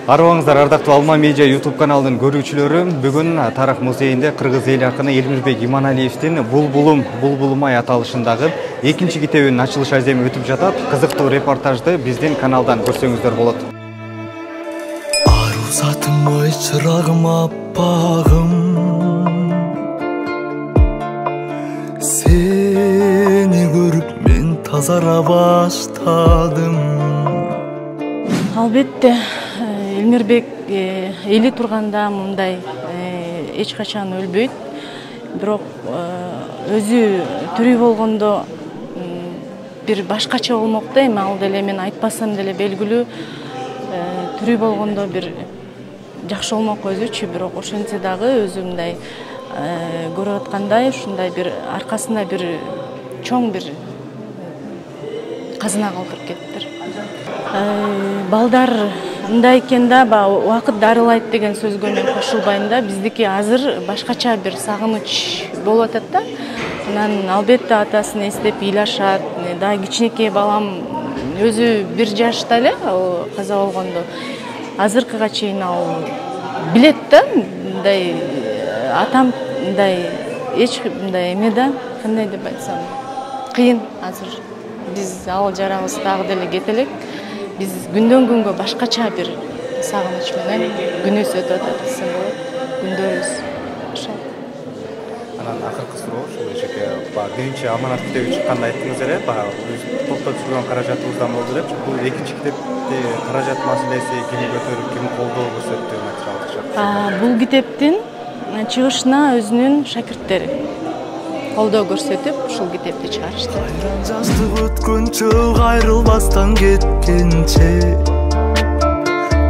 Арыбаңыздар, ардактуу Алма Медиа YouTube каналынын көрүүчүлөрү, бүгүн Тарых музейинде кыргыз эл акыны Элмирбек Иманалиевдин Булбулум-Булбулумай аталышындагы экинчи китебинин ачылыш аземи өтүп жатат. Кызыктуу репортажды биздин каналдан көрсөңүздөр болот. Ару затым ой чырагым аппагым, сени көрүп мен тазара баштадым. Албетте Элмирбек эли турганда мындай эч качан өлбөйт. Бирок өзү тирүү болгондо бир башкача болмок да, эми ал деле мен айтпасам деле белгилүү. Тирүү болгондо бир жакшы болмок өзүчү, бирок ошентсе дагы өзү мындай көрүп аткандай ушундай бир аркасында бир чоң бир казына калтырып кетиптир. Балдар мындай экен да, убакыт дарылайт деген сөзгө мен кошулбайм да. Биздики азыр башкача бир сагыныч болуп атат да. Анан албетте атасын эстеп ыйлашат. Дагы кичинекей балам өзү 1 жашта эле каза болгондо. Азыркыга чейин ал билет да, мындай атам мындай эч мындай эме да, кандай деп айтсам, кыйын азыр. Биз ал жарабыз дагы деле кете элек. Биз күндөн күнгө башкача бир сагыныч менен күнүбүз өтүп атат десем болот. Күндөрүбүз ошол. Анан акыркы суроо ушул эчеке, биринчи аманат китеби чыкканда айттыңыз эле, токтоп жүргөн каражатыбыздан болду деп. Бул экинчи китепти каражат маселеси ким көтөрүп, ким колдоо көрсөттү материалдык? Бул китептин чыгышына өзүнүн шакирттери колдоо көрсөтүп, ушул китепти чыгарышты. Жаштык өткөнчө, кайрылбастан кеткенче,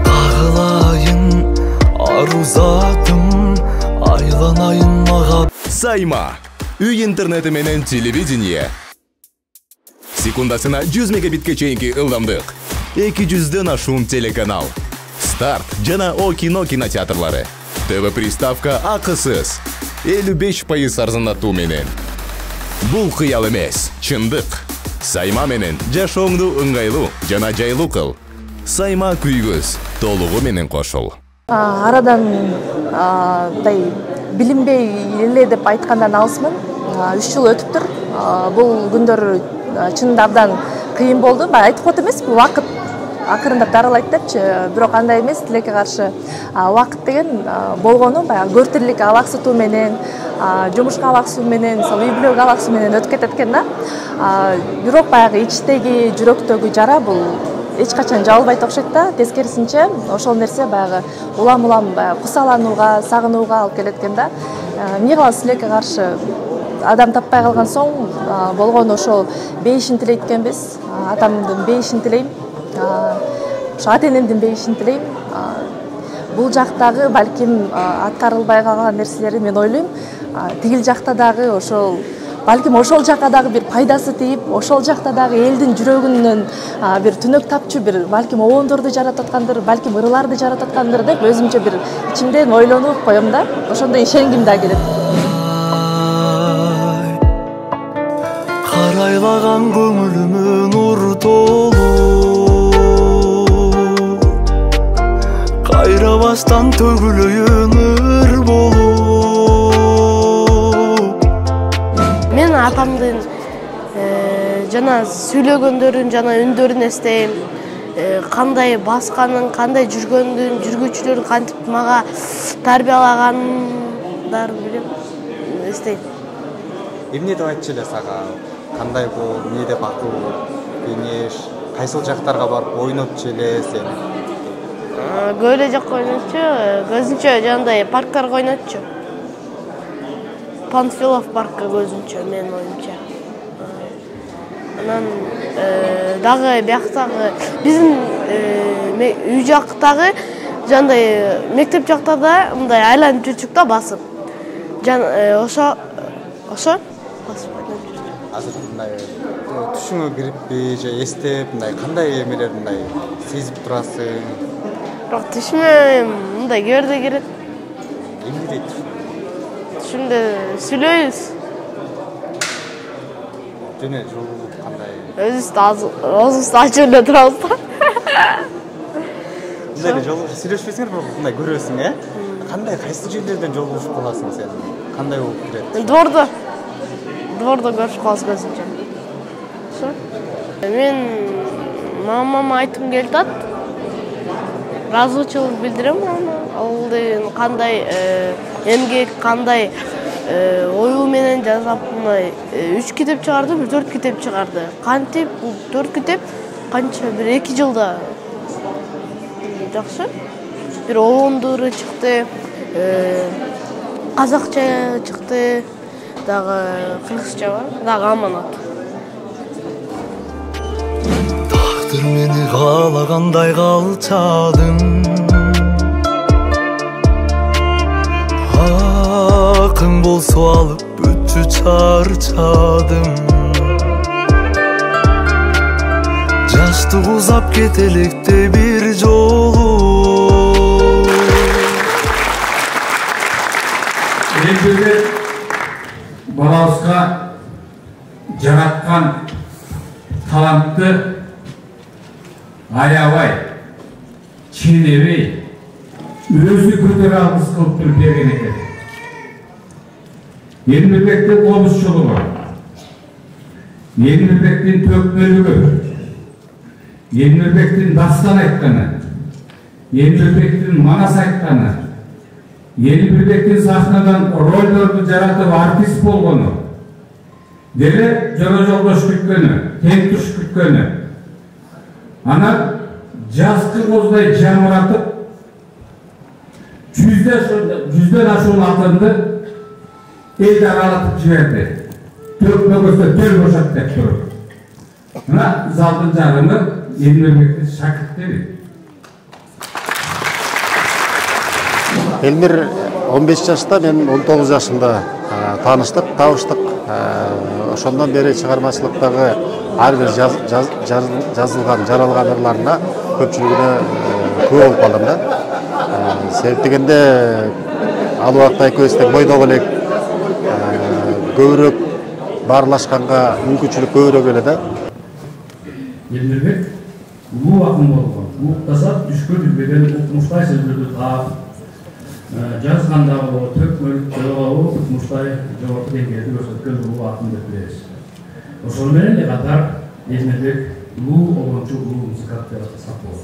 кагылайын ару затым, айланайын мага. Сайма. Үй интернети менен телевидение. Секундасына 100 мегабитке чейинки ылдамдык. 200дөн ашуун телеканал. Старт жана О кино кинотеатрлары. ТВ приставка акысыз. 55% арзандатуу менен. Бул кыял эмес, чындык. Сайма менен жашооңду ыңгайлуу жана жайлуу кыл. Сайма күйгүз, толугу менен кошул. Арадан билинбей эле деп айткандан алысмын. 3 жыл өтүптүр. Бул күндөр чынында абдан кыйын болду. Айтып коет эмес, бул убакыт акырындап дарылайт депчи, бирок андай эмес, тилекке каршы убакыт деген болгону баягы көртүрлүк алаксытуу менен, жумушка алаксуу менен, үй бүлөгө алаксуу менен өтүп кетет экен да. Бирок баягы ичтеги, жүрөктөгү жара бул эч качан жабылбайт окшойт да. Тескерисинче, ошол нерсе баягы улам-улам кусаланууга, сагынууга алып келет экен да. Эмне кылабыз, тилекке каршы адам таппай калган соң болгону ошол бейишин тилейт экенбиз. Атамдын бейишин тилейм. Ошо ата-энемдин бейишин тилейм. Бул жактагы балким аткарылбай калган нерселерди мен ойлойм. Тигил жакта дагы ошол балким ошол жака дагы бир пайдасы тийип, ошол жакта дагы элдин жүрөгүнөн бир түнөк тапчу бир балким обондорду жаратып аткандыр, балким ырыларды жаратып аткандыр деп өзүмчө бир ичимден ойлонуп коем да. Ошондой ишенгим да келет. Карайлаган көңүлүмө нур толуу, кайрабастан төгүлөйүн ыр болуу. Мен атамдын жана сүйлөгөндөрүн, жана үндөрүн эстейм. Кандай басканын, кандай жүргөндүн, жүргүчүлөрүн кантип мага тарбиялагандарын билем, эстейм. Эмне деп айтчу эле сага? Кандай бул, эмне деп акыл, кеңеш, кайсыл жактарга барып ойнопчу эле сен? Көп эле жакка ойночу, көзүнчө жандай парктарга ойночу. Панфилов паркка көзүнчө, менин оюмча. Анан дагы бияктагы биздин үй жактагы жандай мектеп жактарда мындай айланып жүрчүк да, басып. Ошо басып айланып жүрчүк. Азыр мындай түшүңө кириппи же эстеп, мындай кандай эмелер мындай сезип турасың? Бирок түшүмө мындай көрдө кирет. Эмне дейт? Түшүмдө сүйлөйбүз. Жөн жолугуп кандай? Өзүбүздү ачып эле турабыз да. Мындай эле жолугушуп сүйлөшпөсүңөр, бирок мындай көрөсүң, Кандай, кайсы жерлерден жолугушуп каласың сен? Кандай болуп келет? Двордо көрүшүп калабыз көзүнчө. Мен мамама айткым келип атат. Ыраазычылык билдирем аны. Ал кандай эмгек, кандай оюу менен жасап, 3 китеп чыгарды, 4 китеп чыгарды. Кантип бул 4 китеп канча бир 2 жылда жакшы. Бир оңдуру чыкты, казакча чыкты, дагы кыргызча бар, дагы аманат. Тагдыр мени каалагандай калчадың. Акың болсо алып бүчү чарчадым. Жашты узап кетелекте бир жолу. Элбирде балабызга жараткан талантты аябай, ченебей, өзү көтөрө алгыс кылып туруп берген экен. Элмирбектин комузчулугу, Элмирбектин төкмөлүгү, Элмирбектин дастан айтканы, Элмирбектин манас айтканы, Элмирбектин сахнадан ролдорду жаратып артист болгону, деле жора жолдош күткөнү, тең туш күткөнү, ана жазкы коздай жамыратып, жүздөн ашуун алтынды элди аралатып жиберди. Төкмөгөзсө төл бошот деп туруп. Мына залдын жарымы Элмирбектин шакирттери. Элмир 15 жашта, мен 19 жашында таныштык, табыштык. Ошондон бери чыгармачылыктагы ар бир жазылган, жаралган ырларына көпчүлүгүнө күбө болуп калдым да. Себеп дегенде ал убакта экөөбүз тең бойдогу элек, көбүрөөк баарлашканга мүмкүнчүлүк көбүрөөк эле да. Элмирбек улуу акын болгон. Уктаса түшкө түбөдөн укмуштай сөздөрдү таап, жазганда болобу, төкмөлүктө болобу, укмуштай жогорку деңгээлде көрсөткөн улуу акын деп билебиз. Ошол менен катар Элмирбек улуу обончу, улуу музыкант деп атасак болот.